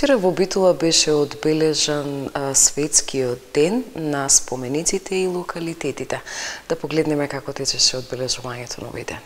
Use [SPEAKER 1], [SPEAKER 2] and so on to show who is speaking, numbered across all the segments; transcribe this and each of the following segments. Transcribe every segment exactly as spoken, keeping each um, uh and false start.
[SPEAKER 1] Вчера во Битола беше одбележан а, светскиот ден на спомениците и локалитетите. Да погледнеме како течеше одбележувањето на овој ден.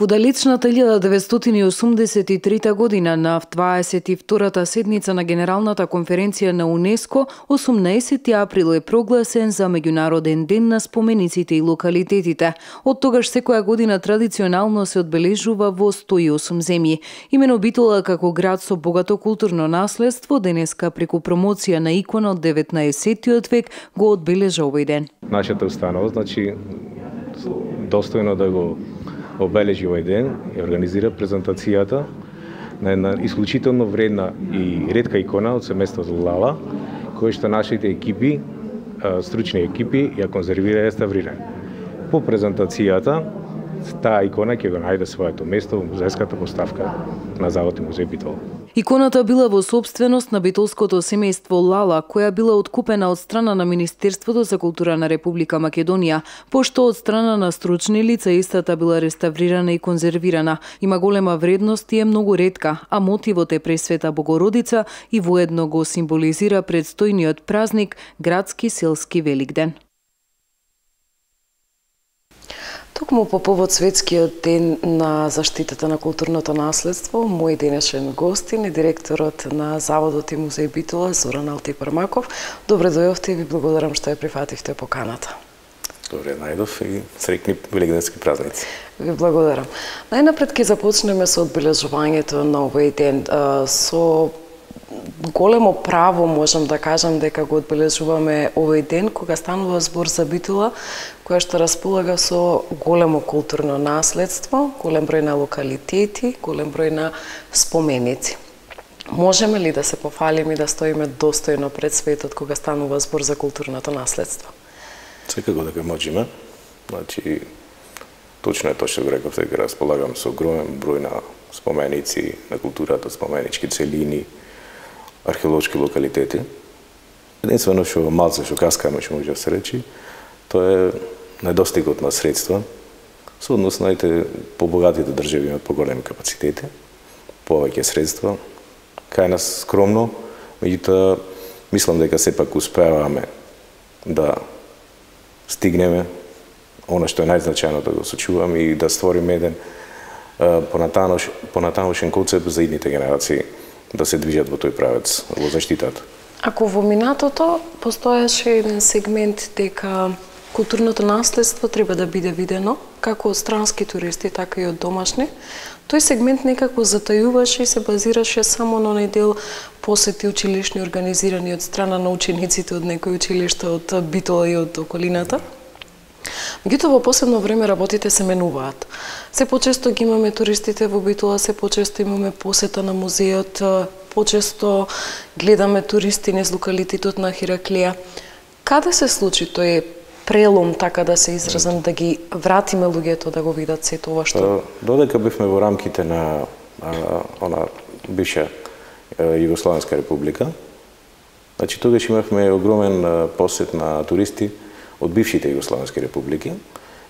[SPEAKER 2] Во далечната илјада деветстотини осумдесет и трета година на дваесет и втората седница на Генералната конференција на УНЕСКО, осумнаесети април е прогласен за меѓународен ден на спомениците и локалитетите. Од тогаш секоја година традиционално се одбележува во сто и осум земји. Имено Битола како град со богато културно наследство денеска преку промоција на икона од деветнаесеттиот век го одбележа овој ден.
[SPEAKER 3] Нашата установа, значи, достојно да го обележи овој ден и организира презентацијата на една исклучително вредна и ретка икона од семејството Лала, која што нашите екипи, стручни екипи, ја конзервира и реставрира. По презентацијата, таа икона ќе го најде своето место во музејската поставка на Завод и музеј Битола.
[SPEAKER 2] Иконата била во собственост на битолското семејство Лала, која била откупена од страна на Министерството за култура на Република Македонија, пошто од страна на стручни лица истата била реставрирана и конзервирана. Има голема вредност и е многу ретка, а мотивот е Пресвета Богородица и воедно го символизира предстојниот празник градски селски Великден.
[SPEAKER 1] Токму по повод светскиот ден на заштитата на културното наследство, мој денешен гостин е директорот на Заводот и музеј Битола Зоран Алтипармаков. Добре дојдовте и ви благодарам што ја прифативте поканата.
[SPEAKER 4] Добре најдов и среќни великденски празници.
[SPEAKER 1] Ви благодарам. Најнапред ќе започнеме со одбележувањето на овој ден. Со големо право можам да кажам дека го одбележуваме овој ден кога станува збор за Битола, која што располага со големо културно наследство, голем број на локалитети, голем број на споменици. Можеме ли да се пофалиме и да стоиме достојно пред светот кога станува збор за културното наследство?
[SPEAKER 4] Секако дека можеме. Значи, точно е тоа што го реков, дека располагам со огромен број на споменици на културата, споменички целини, археолошки локалитети. Единствено што малце што каскаме што може да се речи, тоа е недостигот на средства со однос на побогатите држави имаат поголеми капацитети, повеќе средства. Кај нас скромно, меѓутоа мислам дека сепак успеваме да стигнеме она што е најзначајно да го сочуваме и да створиме еден понатамошен концепт за идните генерации да се движат во тој правец, во заштитата.
[SPEAKER 1] Ако во минатото постоеше еден сегмент дека културното наследство треба да биде видено, како од странски туристи, така и од домашни, тој сегмент некако затајуваше и се базираше само на оној дел посети училишни организирани од страна на учениците од некои училишта од Битола и од околината. Меѓутоа, во последно време работите се менуваат. Се почесто ги имаме туристите во Битола, се почесто имаме посета на музеот, почесто гледаме туристи низ локалитетот на Хераклија. Каде се случи тој прелом, така да се изразам, да ги вратиме луѓето да го видат сето ова што?
[SPEAKER 4] Додека бевме во рамките на а, она бивша Југословенска република, значи тогаш имавме огромен посет на туристи од бившите Југословенски републики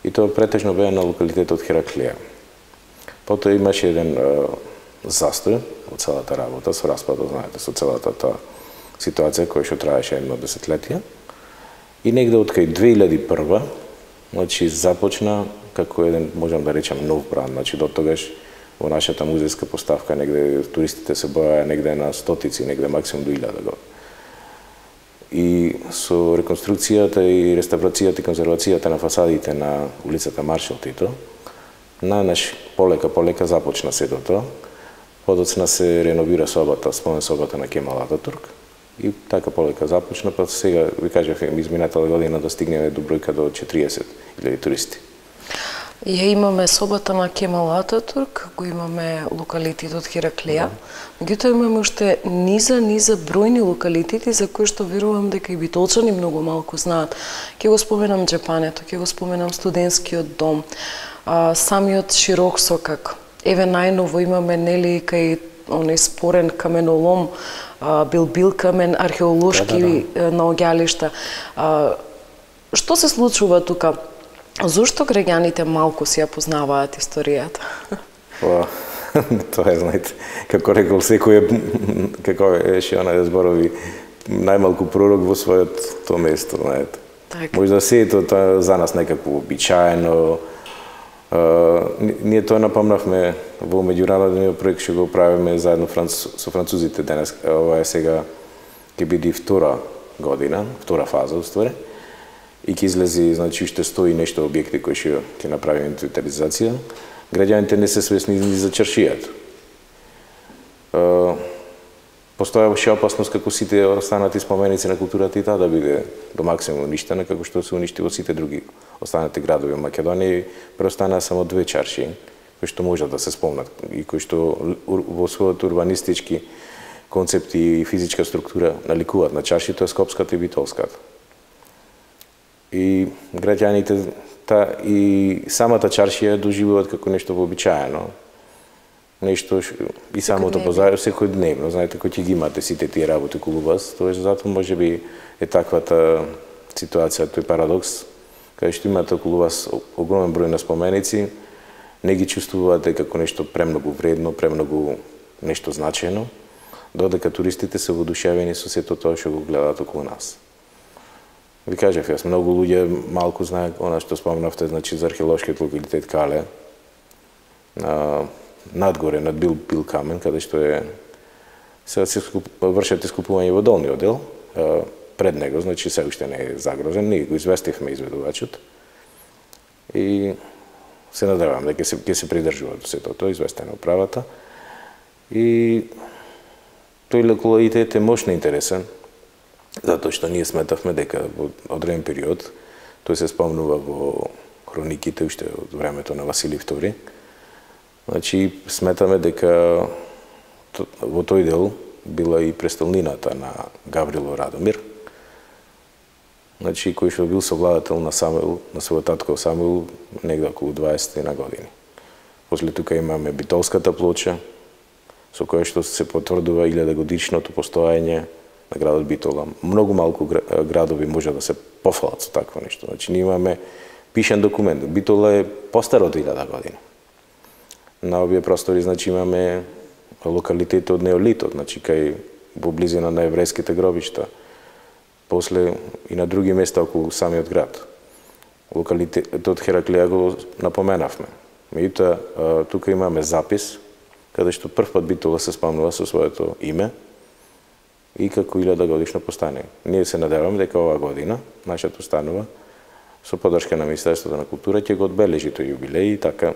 [SPEAKER 4] и тоа претежно беа на локалитетот Хераклија. Потоа имаше еден а, застој од целата работа, со распадот, знаете, со целата таа ситуација која што траеше едно десетлетие. И негде од кај две илјади и прва, значи започна како еден, можам да речам, нов бранд. Значи до тогаш во нашата музејска поставка негде туристите се броја негде на стотици, негде максимум до илјада години. И со реконструкцијата и реставрацијата и конзервацијата на фасадите на улицата Маршал Тито, најнаш полека полека започна сето тоа. Подоцна се реновира собата, спомен собата на Кемал Ататурк. И така полека започна, па сега ви кажав изминатата година да стигнеме до бројка до четириесет илјади туристи.
[SPEAKER 1] Ја имаме собата на Кемал Ататурк, го имаме локалитетот Хераклија, меѓутоа имаме уште низа, низа бројни локалитети за кои што верувам дека и битолчани многу малку знаат. Ќе го споменам Джепането, ќе го споменам студентскиот дом, а, самиот Широк Сокак. Еве најново имаме нели кај оној спорен каменолом, Билбил камен, археолошки да, да, да. наоѓалишта. Што се случува тука? Зошто граѓаните малку си ја познаваат историјата?
[SPEAKER 4] Па, Тоа е, знаете, како рекол секој е, како еше она зборови, најмалку пророк во својот место, знаете.
[SPEAKER 1] Так.
[SPEAKER 4] Може да се е тоа за нас некако обичаено. Ние тоа напомнавме во меѓународниот проект што го правиме заедно со французите денес. Ова е сега ќе биде втора година, втора фаза уствари. И ќе излези, значи, уште сто и нешто објекти кои што ќе направиме инвентаризација. Граѓаните не се свесни ни за чаршијата. Постојаше опасност како сите останати споменици на културата и таа да биде до максимум уништена, како што се уништи во сите други останати градови во Македонија. Преостанаа само две чаршии, кои што можат да се спомнат и кои што во својот урбанистички концепти и физичка структура наликуваат на чарши, тоа е Скопската и Битолската. И граѓаните та и самата чаршија доживуваат како нешто вообичаено. Нешто и самото позајање секојдневно, знаете, кој ќе ги имате сите тие работи околу вас, тоа затоа можеби е таквата ситуација, тој парадокс, каде што имате околу вас огромен број на споменици, не ги чувствувате како нешто премногу вредно, премногу нешто значајно, додека туристите се воодушевени со сето тоа што го гледаат околу нас. Ви кажав, јас многу луѓе малку знаат она што спомнавте, значи за археолошкиот локалитет Кале, на надгоре над Бил Бил Камен, каде што е сега се вршат искупување во долниот дел, пред него, значи се уште не е загрозен, ние го известивме изведувачот и се надевам дека се ќе се придржува до сето тоа, известено управата. И тој локалитет е мощно интересен, затоа што ние сметавме дека во одреден период, тој се спомнува во хрониките уште од времето на Василий втори, значи сметаме дека во тој дел била и престолнината на Гаврило Радомир, значи кој што бил совладател на Самуил, на својот татко Самуил, негде околу дваесет години. После тука имаме Битолската плоча, со која што се потврдува илјадогодишното постоење на градот Битола. Многу малку градови може да се пофалат со такво нешто. Значи, ние имаме пишен документ. Битола е постар од илјада година. На овие простори, значи, имаме локалитет од неолитот, значи, кај во близина на еврејските гробишта. После и на други места околу самиот град. Локалитетот Хераклија го напоменавме. Меѓутоа, тука имаме запис, каде што прв пат Битола се спомнува со своето име и како илјада годишно постане. Ние се надеваме дека оваа година нашата установа со поддршка на Министерството на култура ќе го одбележи тој јубилеј и така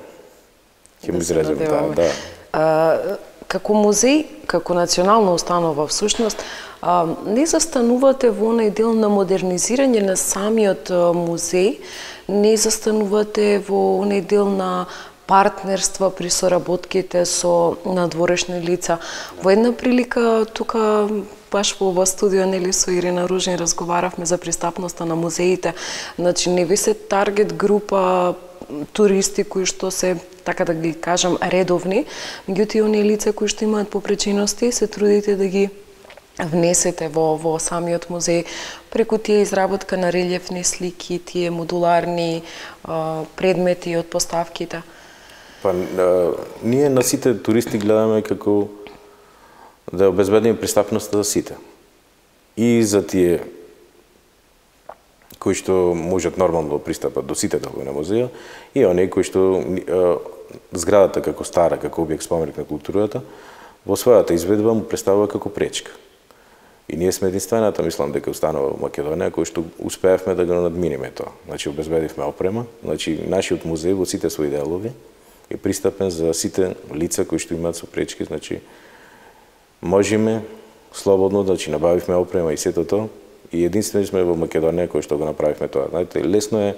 [SPEAKER 4] ќе му изразиме таа, да.
[SPEAKER 1] А, како музеј, како национална установа всушност, а, не застанувате во онај дел на модернизирање на самиот музеј, не застанувате во онај дел на партнерства при соработките со надворешни лица. Во една прилика тука баш во ова студио, нели, со Ирина Ружин разговаравме за пристапноста на музеите. Значи, не ви се таргет група туристи кои што се, така да ги кажам, редовни, меѓутоа оние лица кои што имаат попречености, се трудите да ги внесете во, во самиот музеј преку тие изработка на релјефни слики, тие модуларни а, предмети од поставките.
[SPEAKER 4] Па, а, ние на сите туристи гледаме како да обезбедиме пристапноста за сите. И за тие кои што можат нормално да пристапат до сите делови на музеја, и оние кои што а, зградата како стара, како објект споменик на културата, во својата изведба му представува како пречка. И ние сме единствената, мислам, дека установа во Македонија, кој што успеавме да го надминиме тоа. Значи, обезбедивме опрема, значи, нашиот музеј во сите своји делови е пристапен за сите лица кои што имаат со пречки, значи, можеме слободно, значи, набавивме опрема и сето тоа, и единствени сме во Македонија кој што го направивме тоа. Знаете, лесно е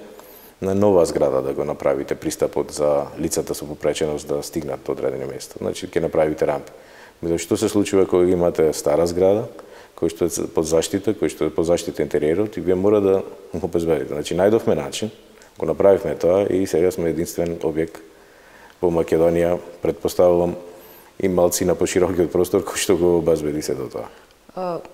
[SPEAKER 4] на нова зграда да го направите пристапот за лицата со попреченост да стигнат до одредени места. Значи, ќе направите рампи. Меѓутоа, што се случува кога имате стара зграда, кој што е под заштита, кој што е под заштита интериерот, и вие мора да го обезбедите. Значи, најдовме начин, го направивме тоа и сега сме единствен објект во Македонија, предпоставувам, и малци на поширокиот простор кој што го обезбеди се до тоа.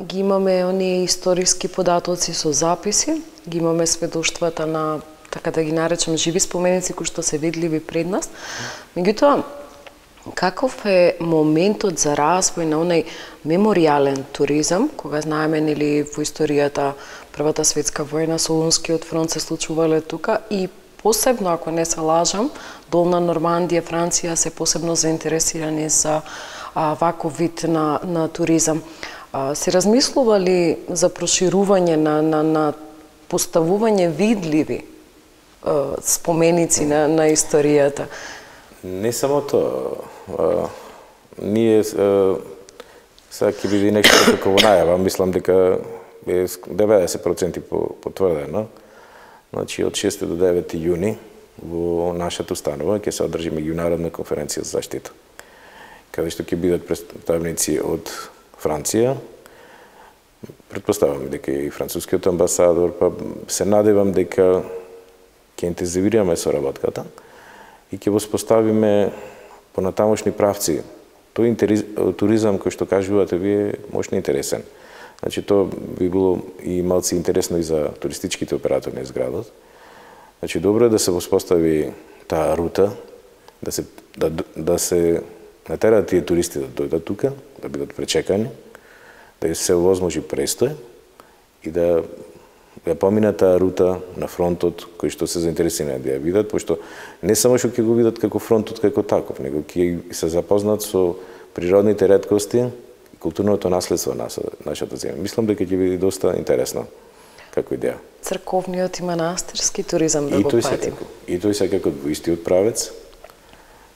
[SPEAKER 1] Ги имаме оние историски податоци со записи, ги имаме сведоштвата на, така да ги наречам, живи споменици кои што се видливи пред нас. Меѓутоа, каков е моментот за развој на онај меморијален туризам, кога знаеме нели во историјата Првата светска војна, Солунскиот фронт се случувале тука и посебно, ако не се лажам, Долна Нормандија, Франција се посебно заинтересирани за а, ваков вид на, на туризам. А, се размислува ли за проширување на, на, на поставување видливи а, споменици на, на историјата?
[SPEAKER 4] Не само тоа. А, ние а, сега ќе биде нешто како во најава, мислам дека е деветдесет проценти потврдено. Значи од шести до девети јуни во нашата установа ќе се одржи меѓународна конференција за заштита, каде што ќе бидат представници од Франција. Претпоставам дека и францускиот амбасадор, па се надевам дека ќе интензивираме соработката и ќе воспоставиме понатамошни правци. Тој туризам кој што кажувате вие мощно интересен. Значи тоа би било и малци интересно и за туристичките оператори на градот. Значи добро е да се воспостави таа рута, да се да, да се натераат тие туристи да дојдат тука, да бидат пречекани, да се возможи престој и да да поминат таа рута на фронтот кој што се заинтересирани да ја видат, пошто не само што ќе го видат како фронтот како таков, него ќе се запознат со природните реткости и културното наследство на нашата земја. Мислам дека ќе биде доста интересно како идеја.
[SPEAKER 1] Црковниот и манастирски туризам да го патим.
[SPEAKER 4] И тој секако во истиот правец.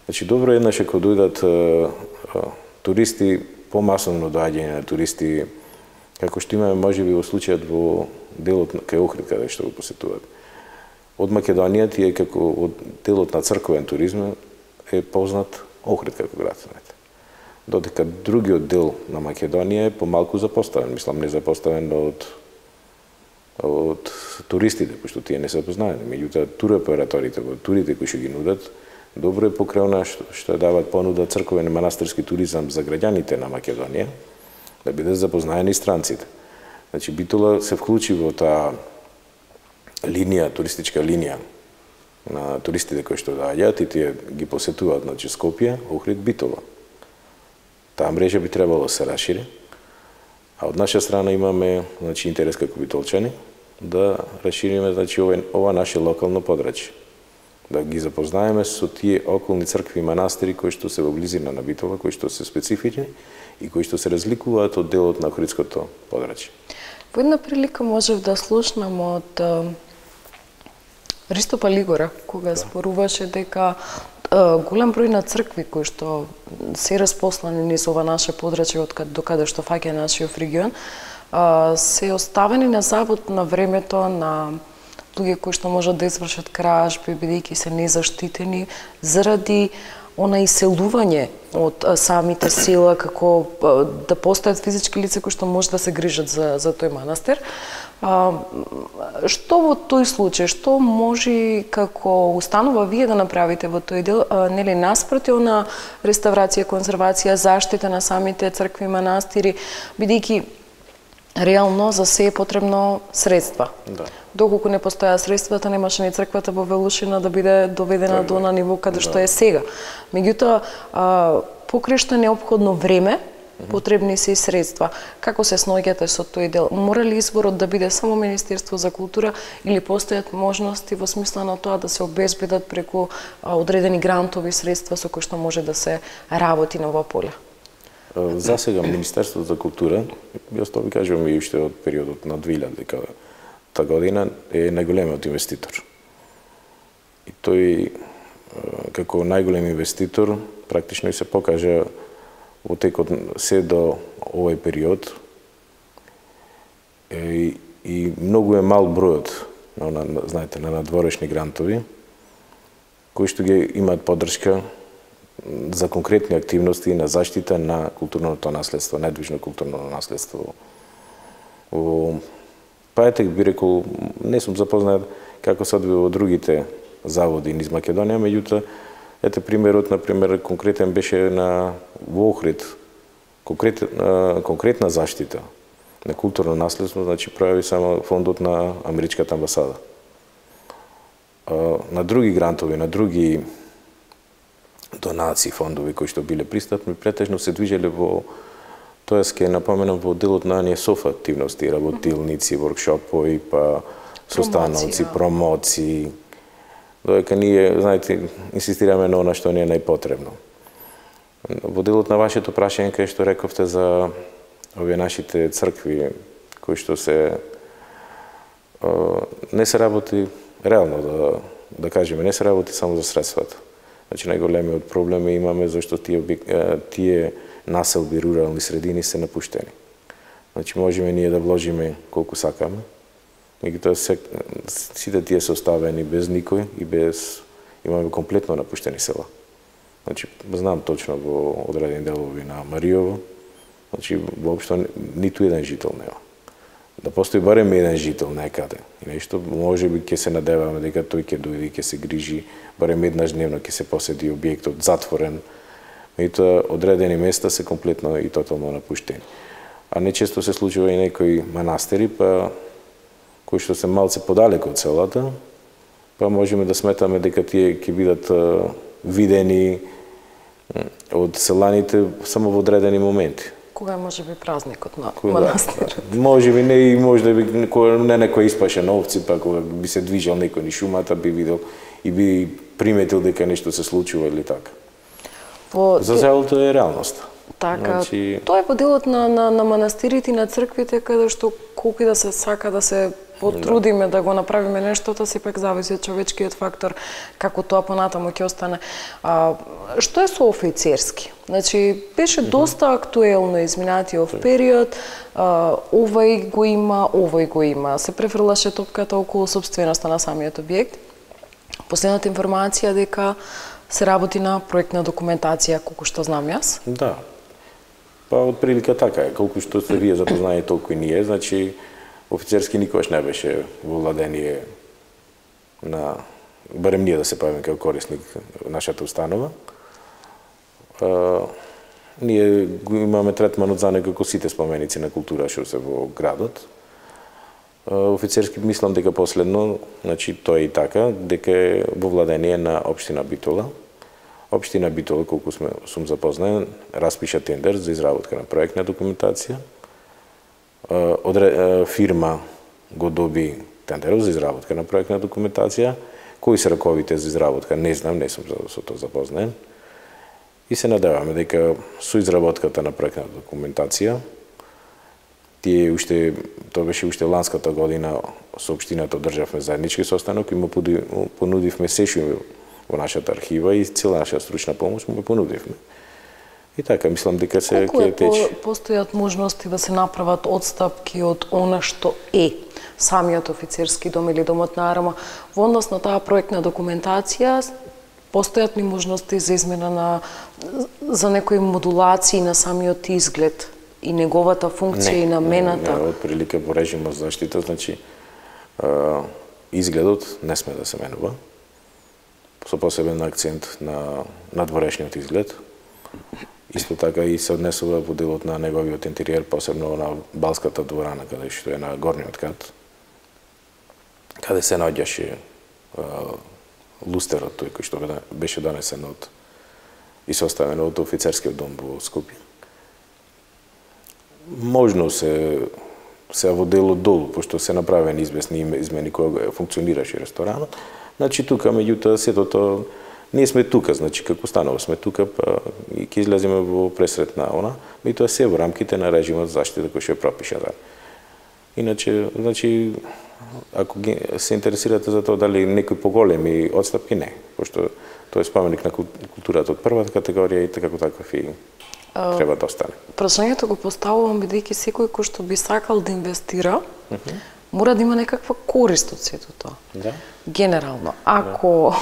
[SPEAKER 4] Значи добро е еднаш ако дојдат а, а, туристи, помасовно доаѓање на туристи, како што имаме можеби во случајот во делот кај Охрид каде што го посетуваат. Од Македонија тие како од делот на црковен туризм е познат Охрид како град. Додека другиот дел на Македонија е помалку запоставен, мислам не запоставен од од туристите, пошто тие не се познаени. Меѓутоа туроператорите, турите кои што ги нудат, добро е покрај што, што дават понуда црковен и манастирски туризам за граѓаните на Македонија, да бидат запознаени странците. Значи Битола се вклучи во таа линија, туристичка линија на туристите кои што доаѓаат и тие ги посетуваат, значи Скопје, Охрид, Битола. Таа мрежа би требало да се расшири, а од наша страна имаме, значи, интерес како битолчани да расшириме, значи, ова, ова наше локално подрачје. Да ги запознаеме со тие околни цркви и манастири кои што се во близина на Битола, кои што се специфични и кои што се разликуваат од делот на Охридското подрачје.
[SPEAKER 1] Во една прилика можев да слушнам од Ристо Палигора, кога зборуваше дека голем број на цркви кои што се распослани низ ова наше подрачје од до каде што фаќа нашиот регион, се оставени на забот на времето на луѓе кои што можат да извршат кражби, бидејќи се незаштитени заради она иселување од самите села, како да постојат физички лица кои што може да се грижат за, за тој манастир. А, што во тој случај, што може како установа вие да направите во тој дел, а, нели наспроти на реставрација, конзервација, заштита на самите цркви и манастири, бидејќи реално за се е потребно средства. Да. Доколку не постоја средствата, немаше ни црквата во Велушина да биде доведена до на ниво каде да. Што е сега. Меѓутоа, покрај што е неопходно време, потребни се и средства. Како се сноѓате со тој дел? Мора ли изборот да биде само Министерство за култура или постојат можности во смисла на тоа да се обезбедат преку одредени грантови средства со кои што може да се работи на ова поле?
[SPEAKER 4] За сега Министерството за култура, јас тоа ви кажувам и уште од периодот на две илјади та година е најголемиот инвеститор. И тој како најголем инвеститор практично и се покажа во текот се до овој период и, и многу е мал бројот на, на, знаете, на надворешни грантови кои што ги имаат поддршка за конкретни активности на заштита на културното наследство, недвижно културно наследство. Па ете би рекол, не сум запознат како се одвива во другите заводи низ Македонија, меѓутоа ете примерот, например, конкретен беше на во Охрид, конкрет, конкретна заштита на културно наследство, значи прави само фондот на Америчката амбасада. На други грантови, на други донации, фондови кои што биле пристапни, претежно се движеле во, тоест ке напоменам во делот на оние соф активности, работилници, воркшопови, па состаноци, промоции. Додека ние, знаете, инсистираме на она што ни е најпотребно. Во делот на вашето прашање кај што рековте за овие нашите цркви кои што се не се работи реално да да кажеме, не се работи само за средствата. Значи најголемиот проблем имаме зашто тие тие населби, рурални средини се напуштени. Значи можеме ние да вложиме колку сакаме, меѓутоа се сите тие се оставени без никој и без имаме комплетно напуштени села. Значи знам точно во одредени делови на Мариово, значи воопшто ниту еден жител нема. Да постои барем еден жител некаде. И нешто можеби ќе се надеваме дека тој ќе дојде и ќе се грижи, барем еднаш дневно ќе се посети објектот затворен. Меѓутоа одредени места се комплетно и тотално напуштени. А нечесто се случува и некои манастири, па кои што се малце подалеку од селата, па можеме да сметаме дека тие ќе бидат видени од селаните само во одредени моменти.
[SPEAKER 1] Кога може би празникот на манастирот?
[SPEAKER 4] Да, може би не и може да би не некој испаше овци, па кога би се движел некој ни шумата, би видел и би приметил дека нешто се случува или така. Во... За селото е реалност.
[SPEAKER 1] Така, значи... тоа е во делот на, на, на манастирите и на црквите, каде што колку и да се сака да се потрудиме да, да го направиме нештото, сепак зависи од човечкиот фактор, како тоа понатаму ќе остане. А, што е со офицерски? Значи, беше доста актуелно изминатиот период, а, овај го има, овај го има. Се префрлаше топката околу собственоста на самиот објект. Последната информација дека се работи на проектна документација, колку што знам јас.
[SPEAKER 4] Да. Па од прилика така е, колку што се вие запознаени толку и ние, значи офицерски никогаш не беше во владение на, барем ние да се правиме како корисник нашата установа. А, ние го имаме третманот за некако сите споменици на култура што се во градот. А, офицерски мислам дека последно, значи тоа е и така, дека е во владение на општина Битола. Општина Битола, колку сме, сум запознаен, распиша тендер за изработка на проектна документација. Одре, фирма го доби тендерот за изработка на проектна документација. Кои се раковите за изработка, не знам, не сум со тоа запознаен. И се надеваме дека со изработката на проектна документација, тие уште, тоа беше уште ланската година, со општината одржавме заеднички состанок и му понудивме сешо во нашата архива и цела наша стручна помош му понудивме. И така, мислам дека се ќе тече.
[SPEAKER 1] Колку постојат можности да се направат одстапки од она што е самиот офицерски дом или домот на арма во однос на таа проектна документација? Постојат ли можности за измена на за некои модулации на самиот изглед и неговата функција не, и намената?
[SPEAKER 4] Не, не, од прилика во режимот заштита, значи а, изгледот не сме да се менува. Со посебен акцент на надворешниот изглед. Исто така и се однесува во делот на неговиот интериер, посебно на балската дворана, каде што е на горниот кат, каде се наоѓаше лустерот, тој кој што беше донесен од и составен од офицерскиот дом во Скопје. Можно се се во делот долу, пошто се направени известни измени кога функционираше ресторанот. Значи тука меѓутоа сето тоа ние сме тука, значи како станува сме тука, па и ќе излеземе во пресрет на она, меѓутоа се во рамките на режимот заштита кој што е пропишан. Иначе, значи ако се интересирате за тоа дали некои поголеми одстапки, не, пошто тоа е споменик на културата од првата категорија и така како таков и треба да остане.
[SPEAKER 1] Прашањето го поставувам бидејќи секој кој што би сакал да инвестира, uh -huh. мора да има некаква корист од сето тоа.
[SPEAKER 4] Да.
[SPEAKER 1] Генерално, ако...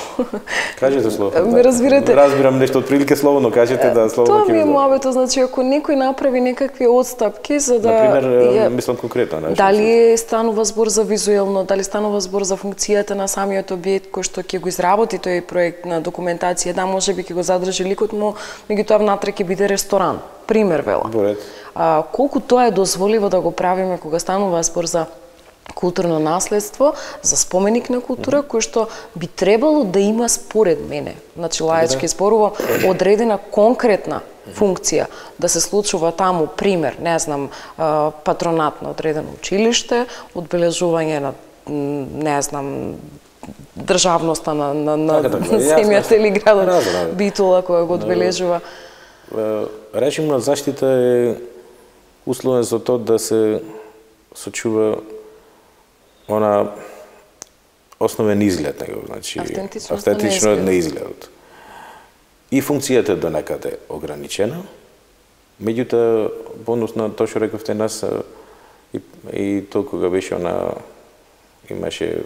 [SPEAKER 4] Кажете слободно.
[SPEAKER 1] Ме разбирате?
[SPEAKER 4] Разбирам нешто од прилика слободно, кажете да слободно ќе
[SPEAKER 1] Тоа ми е муабето, значи ако некој направи некакви одстапки за да...
[SPEAKER 4] Например, ја... мислам конкретно нешто.
[SPEAKER 1] Дали станува збор за визуелно, дали станува збор за функцијата на самиот објект кој што ќе го изработи тој проект на документација, да, можеби ќе го задржи ликот му, меѓутоа внатре ќе биде ресторан. Пример вела.
[SPEAKER 4] Борет.
[SPEAKER 1] А, колку тоа е дозволиво да го правиме кога станува збор за културно наследство, за споменик на култура, кој што би требало да има според мене, значи лаички зборувам, одредена конкретна функција да се случува таму, пример, не знам, патронат на одредено училиште, одбележување на, не знам, државноста на, на, на земјата или градот Битола која го одбележува.
[SPEAKER 4] Режимна заштита е условен за тоа да се сочува она основен изглед него, значи автентично на изгледот. И функцијата до некаде ограничена, меѓутоа, бонус на тоа што рековте нас, и, и тоа кога беше она, имаше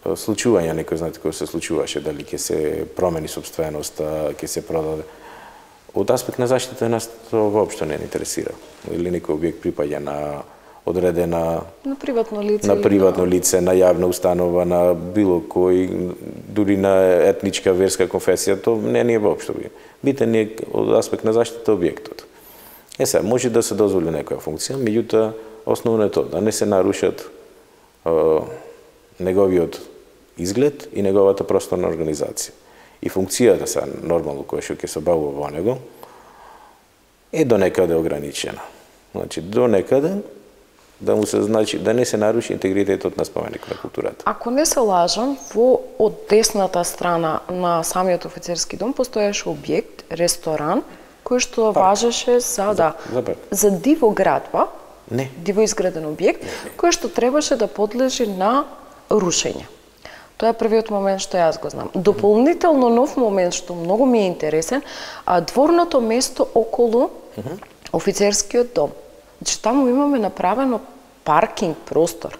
[SPEAKER 4] случување, некој знаете кој се случуваше, дали ќе се промени собственоста, ќе се продаде. Од аспект на заштита нас тоа воопшто не интересира. Или некој објект припаѓа на одредена
[SPEAKER 1] на приватно лице,
[SPEAKER 4] на приватно лице, на јавна установа, на било кој, дури на етничка верска конфесија, тоа не ни е воопшто битен е од аспект на заштита објектот. Е сега, може да се дозволи некоја функција, меѓутоа основно е тоа да не се нарушат е, неговиот изглед и неговата просторна организација. И функцијата са нормално која што ќе се бавува во него е до некаде ограничена. Значи до некаде да му се значи да не се наруши интегритетот на споменик на културата.
[SPEAKER 1] Ако не се лажам, во од десната страна на самиот офицерски дом постоеше објект, ресторан, кој што парк. Важеше за, за да
[SPEAKER 4] за,
[SPEAKER 1] за диво градба,
[SPEAKER 4] не,
[SPEAKER 1] диво изграден објект, кој што требаше да подлежи на рушење. Тоа е првиот момент што јас го знам. Дополнително нов момент што многу ми е интересен, а дворното место околу uh -huh. офицерскиот дом. Значи, таму имаме направено паркинг простор.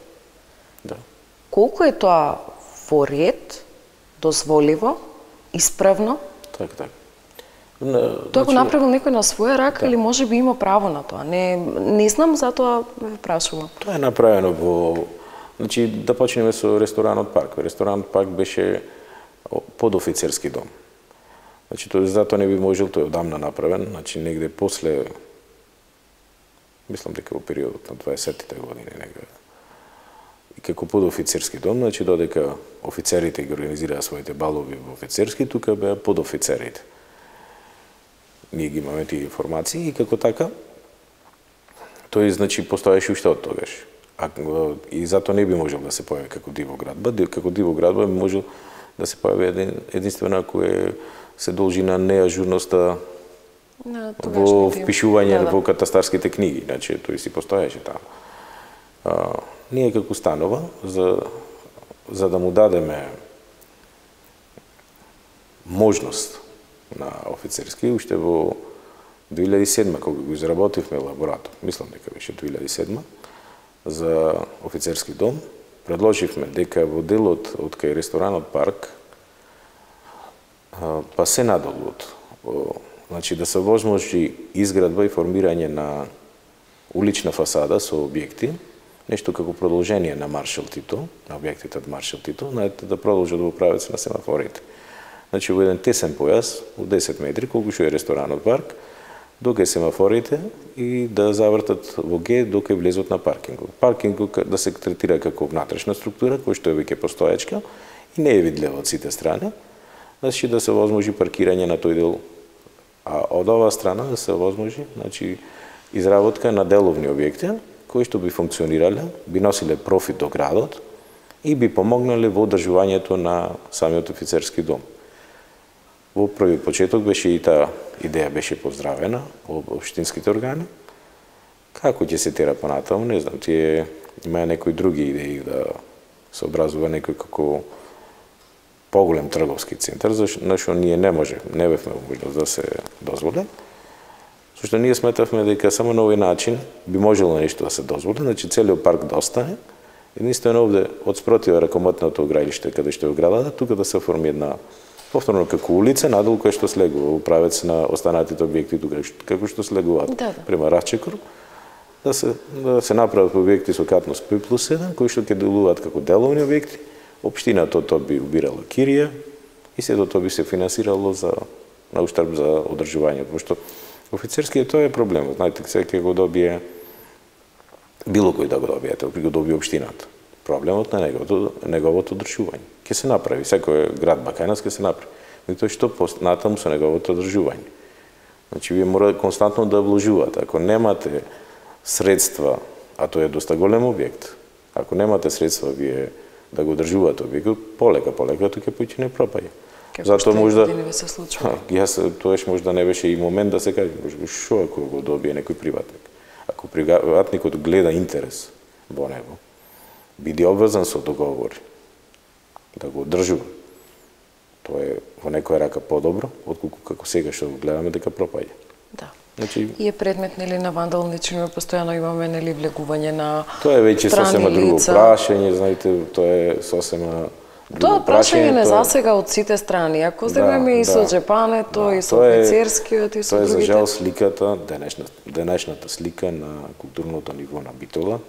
[SPEAKER 4] Да.
[SPEAKER 1] Колку е тоа во ред, дозволиво, исправно?
[SPEAKER 4] Така, така.
[SPEAKER 1] Тоа го направил некој на своја рака, да, или може би има право на тоа? Не, не знам, затоа ве прашувам.
[SPEAKER 4] Тоа е направено во... Значи, да почнеме со ресторанот парк. Ресторанот парк беше под офицерски дом. Значи, тоа затоа не би можел, тој одамна направен, значи негде после, мислам дека во периодот на дваесеттите години некаде. И како подофицерски дом, значи додека офицерите ги организираа своите балови во офицерски, тука беа подофицерите. Ние ги имаме тие информации и како така, тој значи постоеше уште од тогаш. А, и затоа не би можел да се појави како диво градба. Како диво градба би можел да се појави един, единствено ако е, се должи на неажурноста
[SPEAKER 1] no,
[SPEAKER 4] во впишување да, да. во катастарските книги, значи тој си постоеше таму. А, ние како станова, за, за да му дадеме можност на офицерски, уште во две илјади и седма, кога го изработивме лаборатор, мислам дека беше две илјади и седма, за офицерски дом, предложивме дека во делот од кај ресторанот парк, па се надолу од, значи да се возможи изградба и формирање на улична фасада со објекти, нешто како продолжение на Маршал Тито, на објектите од Маршал Тито, да продолжат во правец на семафорите. Значи во еден тесен појас, во десет метри, колку што е ресторанот парк, дока е семафорите и да завртат во Г, дока влезот на паркингот. Паркингот да се третира како внатрешна структура, која што е веќе постоечка и не е видлива од сите страни, значи да се возможи паркирање на тој дел. А од оваа страна да се возможи, значи, изработка на деловни објекти, кои што би функционирале, би носиле профит до градот и би помогнале во одржувањето на самиот офицерски дом. Во први почеток беше и таа идеја беше поздравена од општинските органи. Како ќе се тера понатаму, не знам, тие има некои други идеи да се образува некој како поголем трговски центар, зашто ние не може, не бевме можност да се дозволи. Зашто ние сметавме дека само на овој начин би можело нешто да се дозволи, значи целиот парк да остане. Единствено овде од спротива ракомотното ограилиште каде што е оградата, тука да се оформи една повторно како улица, надолу која што слегува во правец на останатите објекти тука, како што слегуваат да, да. Према Рачекор, да се, да се направат објекти со катност пет плюс еден, кои што ќе делуваат како деловни објекти, општината тоа би убирала кирија и сето тоа би се финансирало за, на уштрб за одржувањето, пошто офицерскиот тоа е проблемот, знаете, сега ќе го добие било кој да го добиете, при го доби општината. Проблемот на неговото, неговото одржување. Ке се направи, секој град Бакајнас ке се направи. Меѓутоа што натаму со неговото одржување. Значи, вие мора константно да вложувате. Ако немате средства, а тоа е доста голем објект, ако немате средства вие да го одржувате објектот, полека, полека, тоа ќе почне пропаѓа. Затоа можда
[SPEAKER 1] се случува.
[SPEAKER 4] Јас тоаш можда не беше и момент да се каже, што ако го добие некој приватник. Ако приватникот гледа интерес во него, биде обврзан со договори да го одржува. Тоа е во некоја рака подобро, отколку како сега што го гледаме дека пропаѓа.
[SPEAKER 1] Да.
[SPEAKER 4] Значи,
[SPEAKER 1] и е предмет нели на вандални чинови, постојано имаме нели влегување на
[SPEAKER 4] тоа е веќе сосема друго
[SPEAKER 1] лица.
[SPEAKER 4] прашање, знаете, тоа е сосема
[SPEAKER 1] Тоа прашање не засега од сите страни. Ако земеме да, и со да, джепането, да, и со офицерскиот, и со
[SPEAKER 4] тоа
[SPEAKER 1] другите.
[SPEAKER 4] Тоа е за жал сликата, денешна, денешната слика на културното ниво на Битола,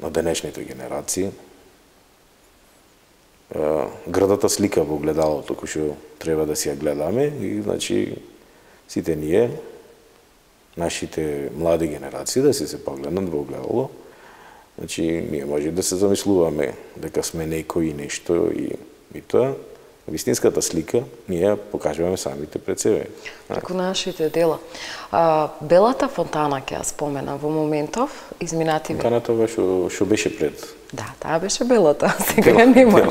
[SPEAKER 4] на денешните генерации. Градата слика во огледалото, кој што треба да си ја гледаме, и значи сите ние, нашите млади генерации, да си се погледнат во огледало. Значи, ние може да се замислуваме дека сме некои нешто и, и тоа, вистинската слика ние ја покажуваме самите пред себе.
[SPEAKER 1] Како нашите дела. А, Белата фонтана ќе ја споменам во моментов, изминати век.
[SPEAKER 4] Фонтаната што што беше пред.
[SPEAKER 1] Да, таа беше белата, сега нема.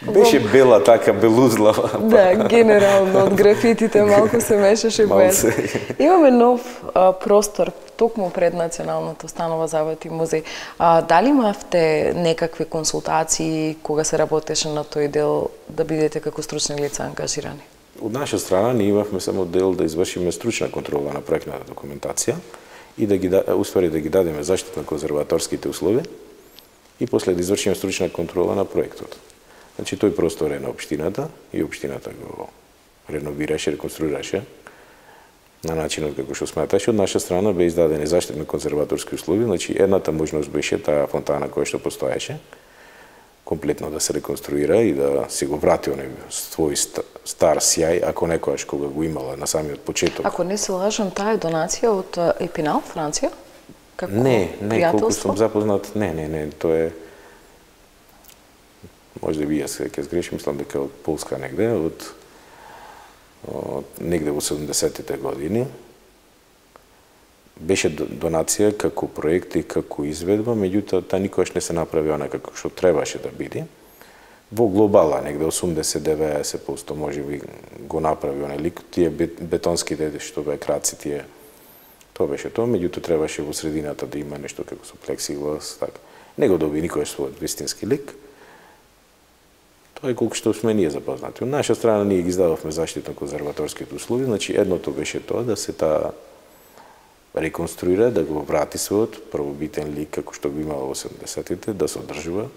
[SPEAKER 4] Беше бела, така белузлава.
[SPEAKER 1] Да, генерално од графитите малку се мешаше бојата. Имаме нов а, простор токму пред Националната установа Завод и музеј. А, дали имавте некакви консултации кога се работеше на тој дел да бидете како стручни лица ангажирани?
[SPEAKER 4] Од наша страна ние имавме само дел да извршиме стручна контрола на проектната документација и да ги успели да ги дадеме заштита на конзерваторските услови и после да извршиме стручна контрола на проектот. Значи, тој простор е на општината и општината го реновираше, реконструираше на начинот како што сметаше. Од наша страна бе издадени заштитни конзерваторски услови, значи едната можност беше таа фонтана која што постоеше, комплетно да се реконструира и да се го врати оној свој стар сјај, ако некојаш кога го имала на самиот почеток.
[SPEAKER 1] Ако не се лажам, таа е донација од Епинал, Франција? Како
[SPEAKER 4] не, не, колку
[SPEAKER 1] пријателство?
[SPEAKER 4] сум запознат, не, не, не, тоа е може би јас ќе сгрешим, мислам дека од Полска негде, од, од негде во седумдесетите години. Беше донација како проект и како изведба, меѓутоа та никогаш не се направи она како што требаше да биде. Во глобала негде осумдесет до деветдесет проценти може би го направи онај лик, тие бетонските што беа краци, тие тоа беше тоа, меѓутоа требаше во средината да има нешто како со плексиглас, така. Не го доби никогаш својот вистински лик. Тоа е колку што сме ние запознати. Од наша страна ние ги издававме заштитно конзерваторските услови, значи едното беше тоа да се таа реконструира, да го врати својот првобитен лик како што го имало во седумдесетите, да се одржува.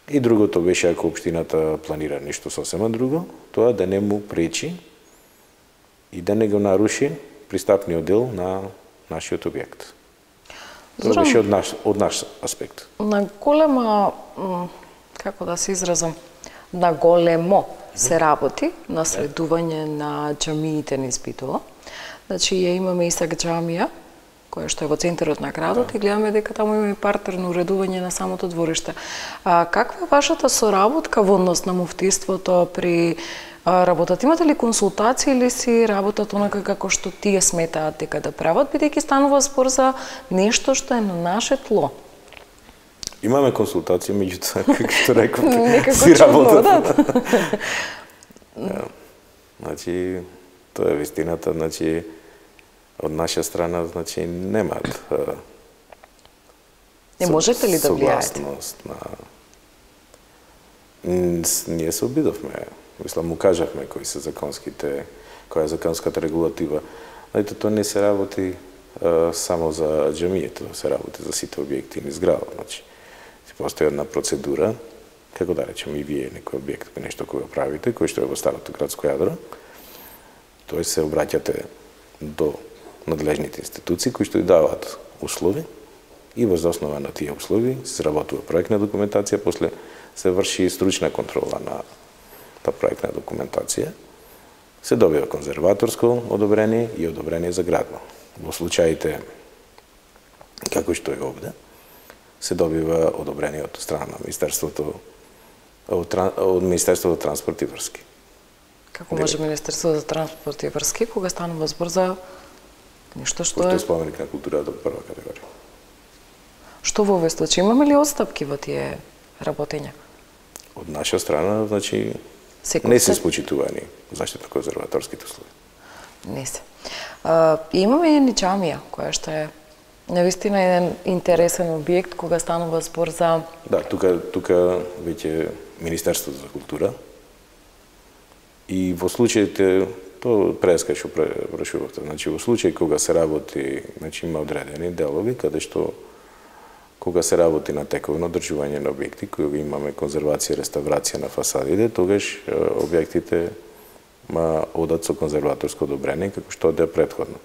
[SPEAKER 4] И другото беше ако општината планира нешто сосема друго, тоа да не му пречи и да не го наруши пристапниот дел на нашиот објект. Тоа беше од наш, од наш аспект.
[SPEAKER 1] На голема, како да се изразам, на големо се работи на следување на џамиите низ Битола. Значи, ја имаме Исак џамија, која што е во центарот на градот, да. И гледаме дека таму има и партерно уредување на самото двориште. А, каква е вашата соработка во однос на муфтиството при а, работата? Имате ли консултации или си работат онака како што тие сметаат дека да прават, бидејќи станува збор за нешто што е на наше тло?
[SPEAKER 4] Имаме консултации, меѓутоа, како што реков,
[SPEAKER 1] си работат.
[SPEAKER 4] Да. Значи, тоа е вистината, значи, од наша страна, значи, немаат
[SPEAKER 1] не можете ли да влијаете?
[SPEAKER 4] На... Ние се обидовме, мислам, му кажавме кои се законските, која е законската регулатива. Знаете, тоа не се работи а, само за џамијето, се работи за сите објекти низ градот. Значи, постои една процедура, како да речем и вие некој објект, нешто кој го правите, кој што е во старото градско јадро, тој се обраќате до надлежните институции кои што ја даваат услови и врз основа на тие услови се сработува проектна документација, после се врши стручна контрола на таа проектна документација, се добива конзерваторско одобрение и одобрение за градба. Во случаите како што е овде, се добива одобрение од страна на Министерството од, од Министерството за транспорт и врски.
[SPEAKER 1] Како може Министерството за транспорт и врски кога станува збор за нешто што
[SPEAKER 4] е...
[SPEAKER 1] е
[SPEAKER 4] споменик на културата од прва категорија.
[SPEAKER 1] Што во овој случај имаме ли отстапки во тие работења?
[SPEAKER 4] Од наша страна, значи,
[SPEAKER 1] Секој
[SPEAKER 4] не се
[SPEAKER 1] се...
[SPEAKER 4] спочитувани заштитно-конзерваторските услови.
[SPEAKER 1] Не се. А, имаме и джамија, која што е навистина еден интересен објект кога станува збор за...
[SPEAKER 4] Да, тука, тука веќе Министерството за култура и во случаите, то преска што прашувавте, значи во случај кога се работи, значи има одредени делови каде што кога се работи на тековно одржување на објекти, кога имаме конзервација, реставрација на фасадите, тогаш објектите ма одат со конзерваторско одобрение, како што оде претходно.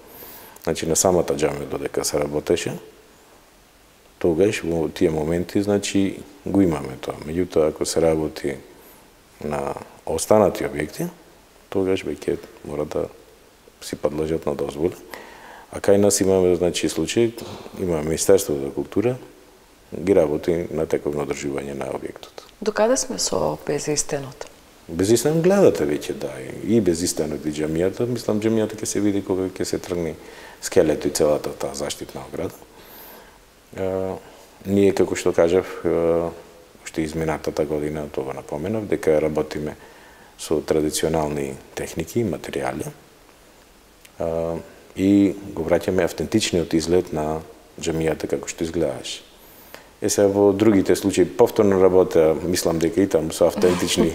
[SPEAKER 4] Значи, на самата џамија додека се работеше, тогаш во тие моменти, значи, го имаме тоа. Меѓутоа, ако се работи на останати објекти, тогаш веќе мора да си подлежат на дозволи. А кај нас имаме, значи, случај, имаме Министерството за култура, ги работи на тековно одржување на објектот.
[SPEAKER 1] Докаде сме со безистенот?
[SPEAKER 4] Безистен гледате веќе, да, и безистенот и џамијата. Мислам, џамијата ќе се види кога ќе се тргне скелето и целата таа заштитна ограда. А, ние, како што кажав, уште изминатата година, тоа напоменав, дека работиме со традиционални техники и материјали а, и го враќаме автентичниот изглед на џамијата како што изгледаше. Е сега во другите случаи повторно работа, мислам дека и таму со автентични,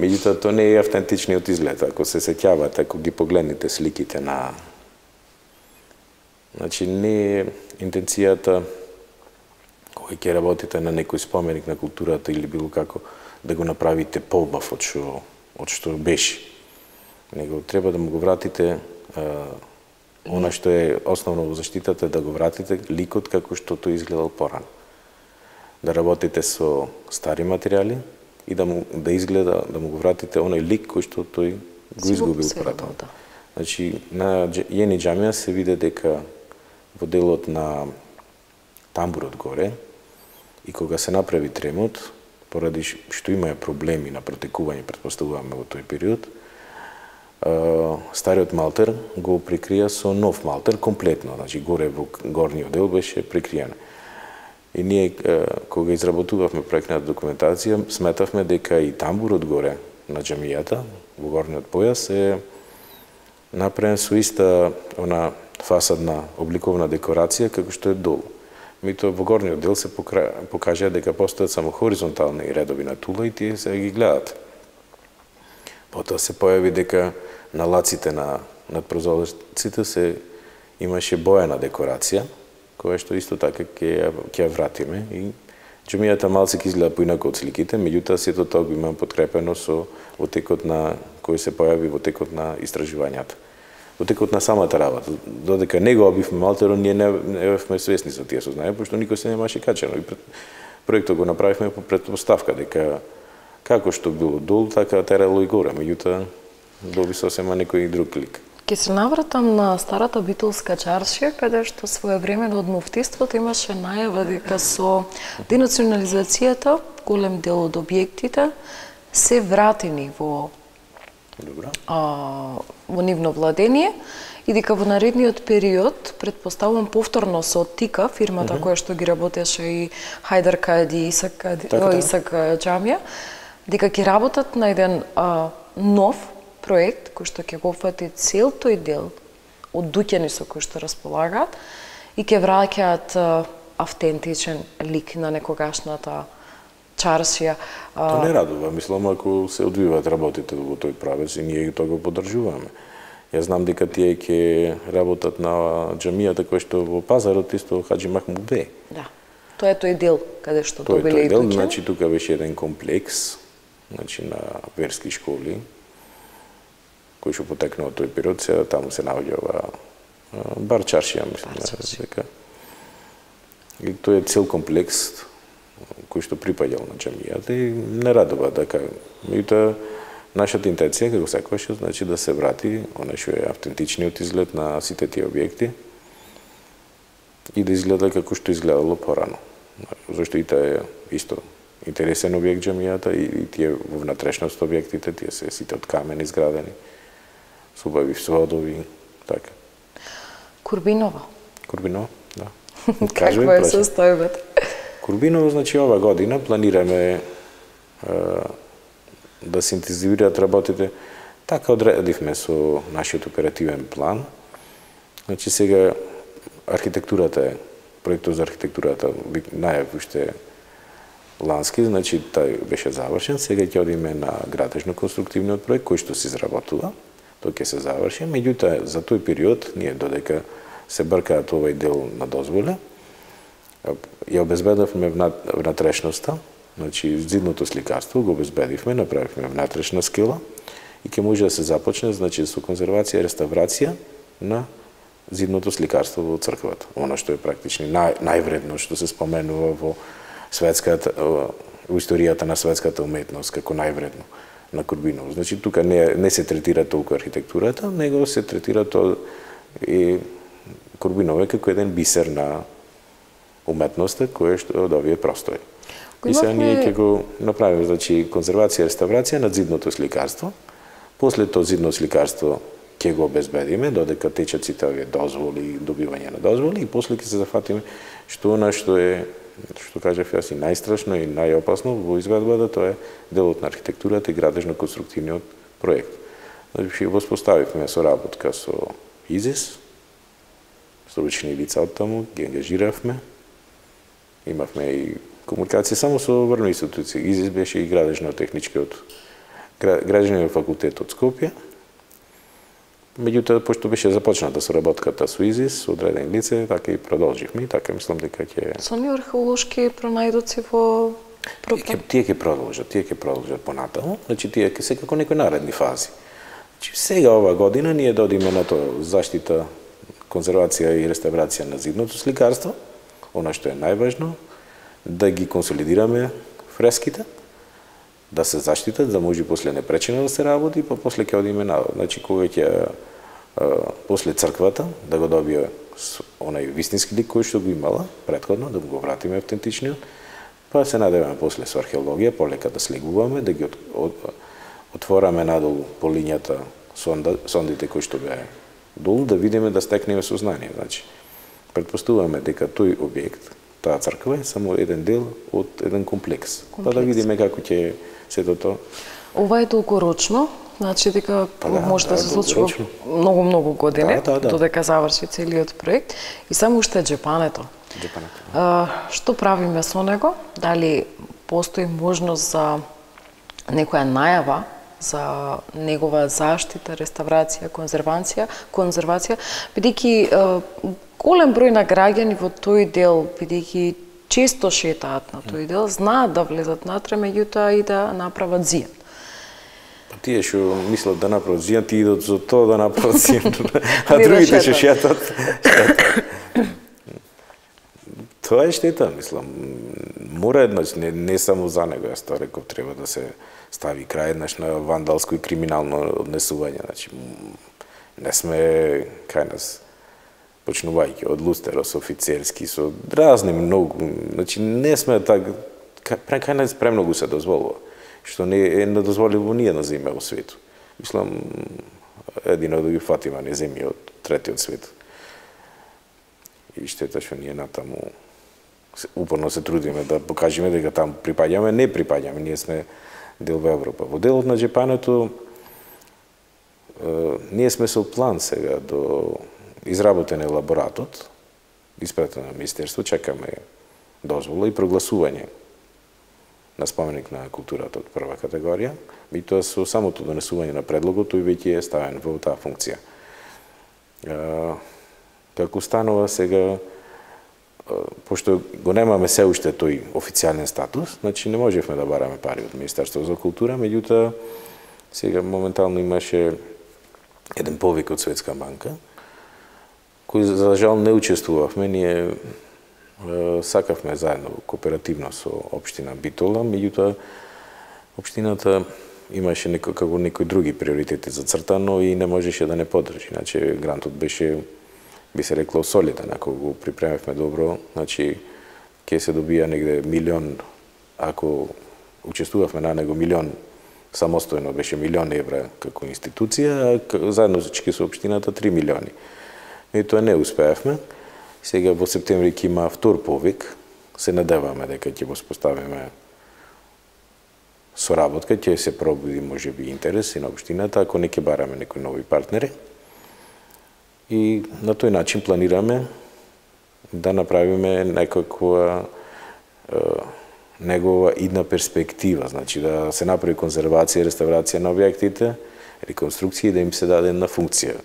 [SPEAKER 4] меѓутоа тоа не е автентичниот изглед. Ако се сеќавате, ако ги погледнете сликите на... Значи, не е интенцијата кога ќе работите на некој споменик на културата или било како да го направите поубав од што, од што беше. Него треба да му го вратите а, она што е основно во заштитата, да го вратите ликот како што тој изгледал порано. Да работите со стари материјали и да му да изгледа, да му го вратите оној лик кој што тој го изгубил порано.
[SPEAKER 1] Да.
[SPEAKER 4] Значи, на Јени џамија се види дека во делот на тамбурот горе и кога се направи тремот, поради што имаја проблеми на протекување, претпоставуваме во тој период, стариот малтер го прикрија со нов малтер комплетно, значи горе во горниот дел беше прикриен. И ние, кога изработувавме проектната документација, сметавме дека и тамбурот горе на џамијата, во горниот појас, е направен со иста она фасадна обликовна декорација како што е долу. Меѓутоа во горниот дел се покажа дека постојат само хоризонтални редови на тула и тие се ги гледат. Потоа се појави дека на лаците на над прозорците се имаше боена декорација, која што исто така ќе ќе ја вратиме и џамијата малце ќе изгледа поинаку од сликите, меѓутоа сето тоа го имам подкрепено со во текот на кој се појави во текот на истражувањата. Во текот на самата работа, додека не го обивме малтерот, ние не, не бевме свесни за тие сознања, пошто никој се немаше качено. И пред, проектот го направивме по претпоставка дека како што било долу, така терало и горе, меѓутоа доби сосема некој друг лик.
[SPEAKER 1] Ке се навратам на старата битолска чаршија, каде што своевремено од муфтиството имаше најава дека со денационализацијата голем дел од објектите се вратени во
[SPEAKER 4] Добра.
[SPEAKER 1] А, во нивно владение и дека во наредниот период, предпоставувам повторно со Тика, фирмата mm -hmm. која што ги работеше и Хајдар Кади, Исак, Кади,
[SPEAKER 4] така,
[SPEAKER 1] Исак џамија, дека ќе работат на еден а, нов проект кој што ќе го опфати цел тој дел од дуќани со кои што располагаат и ќе враќаат автентичен лик на некогашната чаршија.
[SPEAKER 4] Тоа не радува, мислам, ако се одвиваат работите во тој правец и ние тоа го поддржуваме. Јас знам дека тие ќе работат на џамијата која што во пазарот исто Хаџи Махмуд бе.
[SPEAKER 1] Да. Тоа е тој дел каде што добиле и
[SPEAKER 4] дел,
[SPEAKER 1] дуќани.
[SPEAKER 4] значи тука беше еден комплекс, значи на верски школи кој што потекнува од тој период, сега таму се наоѓа ова бар чаршија, мислам, дека. И тој е цел комплекс кој што припаѓал на џамијата и не радува дека. Меѓутоа, нашата интенција како секогаш значи да се врати оној што е автентичниот изглед на сите тие објекти и да изгледа како што изгледало порано. Зашто и таа е исто интересен објект џамијата и, и тие во внатрешност објектите, тие се сите од камен изградени, со убави сводови, така.
[SPEAKER 1] Курбиново.
[SPEAKER 4] Курбиново, да.
[SPEAKER 1] Каква е состојбата?
[SPEAKER 4] Курбиново, значи, ова година планираме е, да се интензивираат работите. Така одредивме со нашиот оперативен план. Значи, сега архитектурата е, проектот за архитектурата најав уште лански, значи тај беше завршен. Сега ќе одиме на градежно-конструктивниот проект кој што се изработува. Тој ќе се заврши. Меѓутоа, за тој период, ние додека се бркаат овој дел на дозволе, ја обезбедивме внатрешноста, значи зидното сликарство го обезбедивме, направивме внатрешна скела и ќе може да се започне, значи, со конзервација и реставрација на зидното сликарство во црквата. Оно што е практично нај, највредно што се споменува во светската во историјата на светската уметност како највредно на Курбиново. Значи тука не не се третира толку архитектурата, него се третира тоа и Курбиново како еден бисер на уметноста кој што од овие простори. И сега ние ќе го направиме, значи, конзервација и реставрација на зидното сликарство. После тоа зидно сликарство ќе го обезбедиме додека течат сите овие дозволи, добивање на дозволи, и после ќе се зафатиме што она што е, што кажав јас, и најстрашно и најопасно во изведбата, тоа е делот на архитектурата и градежно-конструктивниот проект. Значи, воспоставивме соработка со ИЗИС, стручни лица од таму, ги ангажиравме. Имавме и комуникација само со врно институции. ИЗИС беше и градежно-техничкиот градежниот факултет од Скопје. Меѓутоа, пошто беше започната соработката со ИЗИС, со одредени лице, така и продолживме, и така мислам дека ќе...
[SPEAKER 1] Со ни археолошки пронајдоци во програм?
[SPEAKER 4] Тие ќе продолжат, тие ќе продолжат понатаму, значи тие ќе се како некои наредни фази. Значи сега ова година ние додиме на тоа заштита, конзервација и реставрација на зидното сликарство, она што е најважно, да ги консолидираме фреските, да се заштитат, да може после непречено да се работи, па после ќе одиме на, значи кога ќе после црквата да го добие онај вистински лик кој што го имала претходно, да го вратиме автентичниот, па се надеваме после со археологија полека да слегуваме, да ги от, от, отвораме надолу по линијата сонда, сондите кои што беа долу, да видиме, да стекнеме сознание. Значи, предпоставуваме дека тој објект, таа црква е само еден дел од еден комплекс. комплекс. Па да видиме како ќе сето тоа.
[SPEAKER 1] Ова е долгорочно, значи дека
[SPEAKER 4] па да,
[SPEAKER 1] може да,
[SPEAKER 4] да
[SPEAKER 1] се случи многу многу години, да, да, да. додека заврши целиот проект, и само уште џепането.
[SPEAKER 4] Џепането.
[SPEAKER 1] А, што правиме со него? Дали постои можност за некоја најава за негова заштита, реставрација, конзервација, конзервација, бидејќи голем број на граѓани во тој дел, бидејќи често шетаат на тој дел, знаат да влезат натре, меѓутоа и да направат зијан.
[SPEAKER 4] Па тие што мислат да направат зијан, тие идат за тоа да направат зијан, а другите што шетат. Тоа е штета, мислам. Мора еднаш, не, не само за него, јас тоа реков, треба да се стави крај еднаш на вандалско и криминално однесување. Значи, не сме кај нас, почнувајќи од Лустерос, офицерски, со разни многу, значи не сме така, кај нас премногу се дозволува, што не е недозволиво ниједна земја во свету. Мислам, едино да ги фатима не земји од третиот свет. И штета што ние натаму упорно се трудиме да покажеме дека таму припаѓаме, не припаѓаме, ние сме дел во Европа. Во делот на џепането, ние сме со план сега до изработен елаборатот, испратен на Министерство, чекаме дозвола и прогласување на споменик на културата од прва категорија, и тоа со самото донесување на предлогот, тој веќе е ставен во таа функција. Како станува сега, пошто го немаме се уште тој официјален статус, значи не можевме да бараме пари од Министерство за култура, меѓутоа сега моментално имаше еден повик од Светска банка, кој за жал не учествувавме, ние сакавме заедно кооперативно со општина Битола, меѓутоа општината имаше некој, како некои други приоритети зацртано и не можеше да не поддржи. Значи грантот беше би се рекло солиден, ако го припремевме добро, значи ќе се добија негде милион, ако учествувавме на него милион самостојно беше милион евра како институција, а заедно со општината три милиони. И тоа не успеавме. Сега во септември ќе има втор повик, се надеваме дека ќе го споставиме соработка, ќе се пробуди можеби интерес и на општината, ако не ќе бараме некои нови партнери. И на тој начин планираме да направиме некаква е, негова идна перспектива, значи да се направи конзервација и реставрација на објектите, реконструкција и да им се даде една функција.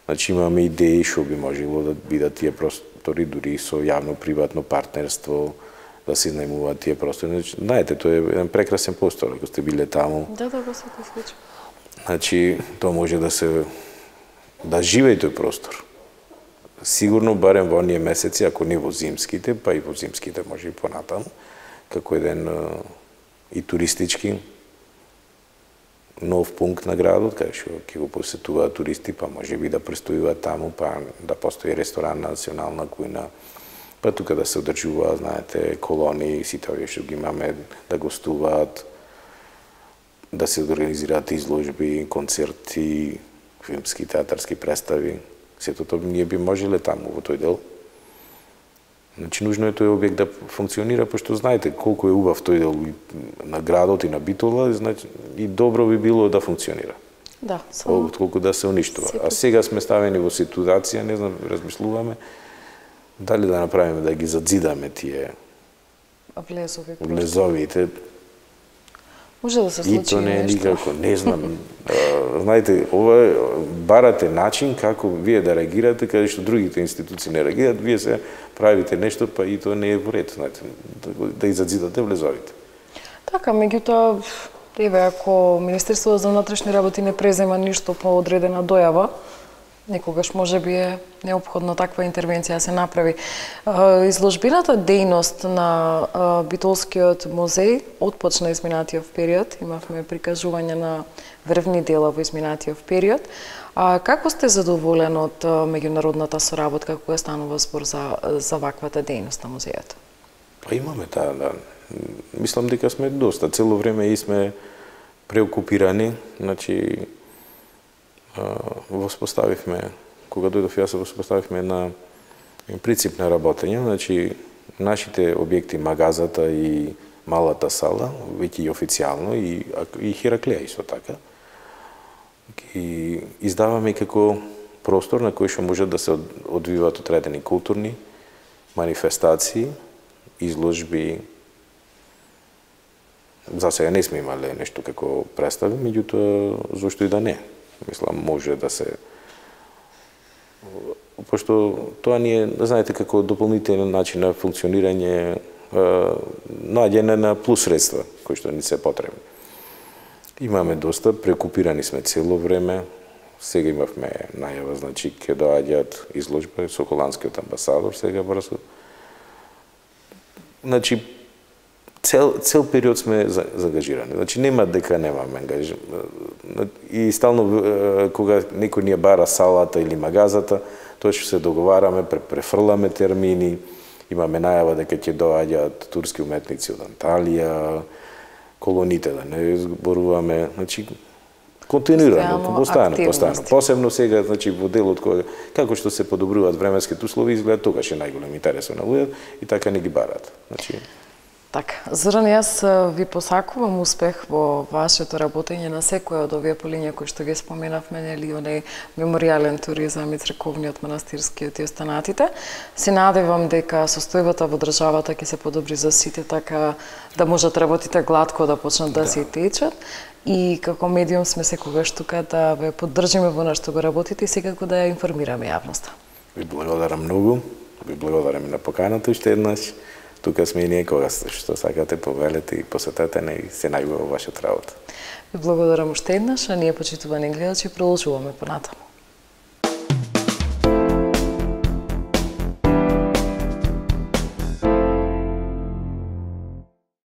[SPEAKER 4] Значи имаме идеи што би можело да бидат тие простори дури со јавно-приватно партнерство, да се изнајмуваат тие простори. Значи, знаете, тоа е еден прекрасен простор, ако сте биле таму.
[SPEAKER 1] Да, да, го се тоа случи.
[SPEAKER 4] Значи, тоа може да се да живее тој простор. Сигурно барем во оние месеци, ако не во зимските, па и во зимските може и понатаму, како еден и туристички нов пункт на градот, кај што ќе го посетуваат туристи, па може би да престојуваат таму, па да постои ресторан на национална кујна, па тука да се одржуваат, знаете, колонии, сите овие што ги имаме, да гостуваат, да се организираат изложби, концерти, филмски, театарски представи. Сето тоа ние би можеле таму во тој дел. Значи, нужно е тој објект да функционира, пошто знаете колку е убав тој дел на градот и на Битола, значи, и добро би било да функционира.
[SPEAKER 1] Да, само...
[SPEAKER 4] Колку да се уништува. А сега сме ставени во ситуација, не знам, размислуваме, дали да направиме да ги задзидаме тие
[SPEAKER 1] влезови.
[SPEAKER 4] Влезовите.
[SPEAKER 1] Може да се случи
[SPEAKER 4] и тоа не е
[SPEAKER 1] нешто.
[SPEAKER 4] никако, не знам. А, знаете, ова барате начин како вие да реагирате, каде што другите институции не реагираат, вие се правите нешто, па и тоа не е во ред, знаете, да, да изадзидате влезовите.
[SPEAKER 1] Така, меѓутоа, еве, ако Министерството за внатрешни работи не презема ништо по одредена дојава, некогаш може би е неопходно таква интервенција да се направи. Изложбената дејност на Битолскиот музеј отпочна изминатиот период. Имавме прикажување на врвни дела во изминатиот период. А како сте задоволен од меѓународната соработка кога станува збор за, за ваквата дејност на музејот?
[SPEAKER 4] Па имаме таа, да. Мислам дека сме доста. Цело време и сме преокупирани, значи воспоставивме, кога дојдов јас, воспоставивме на принцип на работење, значи нашите објекти, магазата и малата сала, веќе и официјално, и, и Хераклеја исто така, ги издаваме како простор на кој што можат да се одвиваат одредени културни манифестации, изложби. За сега не сме имале нешто како представи, меѓутоа зошто и да не. Мислам, може да се... Пошто тоа ни е, знаете, како дополнителен начин на функционирање, наѓање на плюс средства, кои што ни се потребни. Имаме доста, прекупирани сме цело време. Сега имавме најава, значи, ќе доаѓаат изложба со холандскиот амбасадор, сега брзо. Значи, Цел, цел период сме заангажирани. Значи, нема дека немаме ангажирани. И стално, кога некој ни бара салата или магазата, тоа што се договараме, префрламе термини, имаме најава дека ќе доаѓаат турски уметници од Анталија, колоните да не зборуваме. Значи, континуирано, постојано, постојано. Посебно сега, значи, во делот кој, како што се подобруваат временските услови, изгледа тогаш е најголем интерес на луѓето и така не ги барат. Значи,
[SPEAKER 1] така, Зоран, јас ви посакувам успех во вашето работење на секоја од овие полиња кои што ги споменавме, нели, онај меморијален туризам и црковниот, манастирскиот и останатите. Се надевам дека состојбата во државата ќе се подобри за сите, така да можат работите гладко да почнат да, да се течат. И како медиум сме секогаш тука да ве поддржиме во нашто го работите и секако да ја информираме јавноста.
[SPEAKER 4] Ви благодарам многу, ви благодарам на поканата уште еднаш. Тука сме и ние кога што сакате повелете и посетете не и се најубаво вашата работа.
[SPEAKER 1] Ви благодарам уште еднаш, а ние, почитувани гледачи, продолжуваме понатаму.